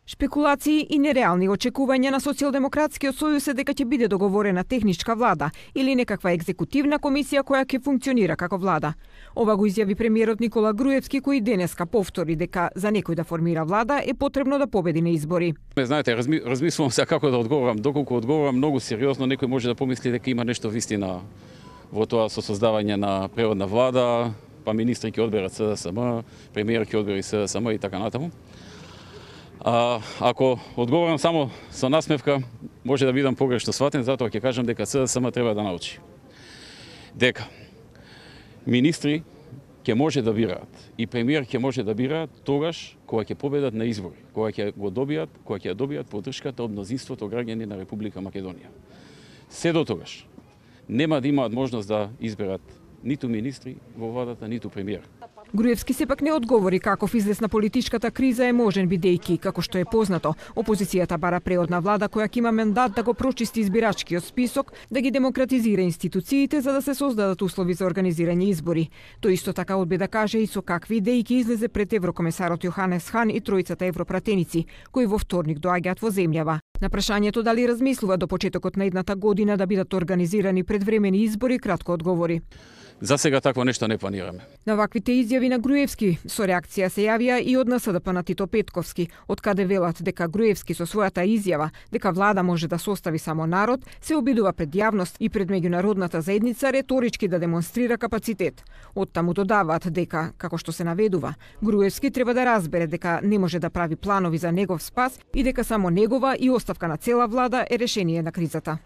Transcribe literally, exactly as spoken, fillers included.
Шпекулации и нереални очекувања на Социјалдемократскиот сојуз е дека ќе биде договорена техничка влада или некаква екзекутивна комисија која ќе функционира како влада. Ова го изјави премиерот Никола Груевски, кој денеска повтори дека за некој да формира влада е потребно да победи на избори. Знаете, разми, размислувам се како да одговорам, доколку одговорам многу сериозно, некој може да помисли дека има нешто вистина во тоа со создавање на преводна влада, па министри ќе одберат С Д С М, премиер ќе одбери С Д С М и така натаму. А, ако одговорам само со насмевка, може да бидам погрешно сватен, затоа ќе кажам дека С Д С М треба да научи дека министри ќе може да бираат и премиер ќе може да бираат тогаш кога ќе победат на избори, кога ќе го добијат, кога ќе добијат поддршката од мнозинството граѓани на Република Македонија. Се до тогаш нема да имаат можност да изберат ниту министри во владата, ниту премиер. Груевски сепак не одговори каков излез на политичката криза е можен, бидејќи, како што е познато, опозицијата бара преодна влада која ќе има мандат да го прочисти избирачкиот список, да ги демократизира институциите за да се создадат услови за организирање избори. Тој исто така одби да каже и со какви идеи ќе излезе пред еврокомесарот Јоханес Хан и тројцата европратеници, кои во вторник доаѓаат во земјава. На прашањето дали размислува до почетокот на едната година да бидат организирани предвремени избори, кратко одговори: За сега такво нешто не планираме. На ваквите изјави на Груевски со реакција се јавија и од Н С Д П на Тито Петковски, од каде велат дека Груевски со својата изјава дека влада може да состави само народ, се обидува пред јавност и пред меѓународната заедница реторички да демонстрира капацитет. Оттаму додаваат дека, како што се наведува, Груевски треба да разбере дека не може да прави планови за негов спас и дека само негова и оставка на цела влада е решение на кризата.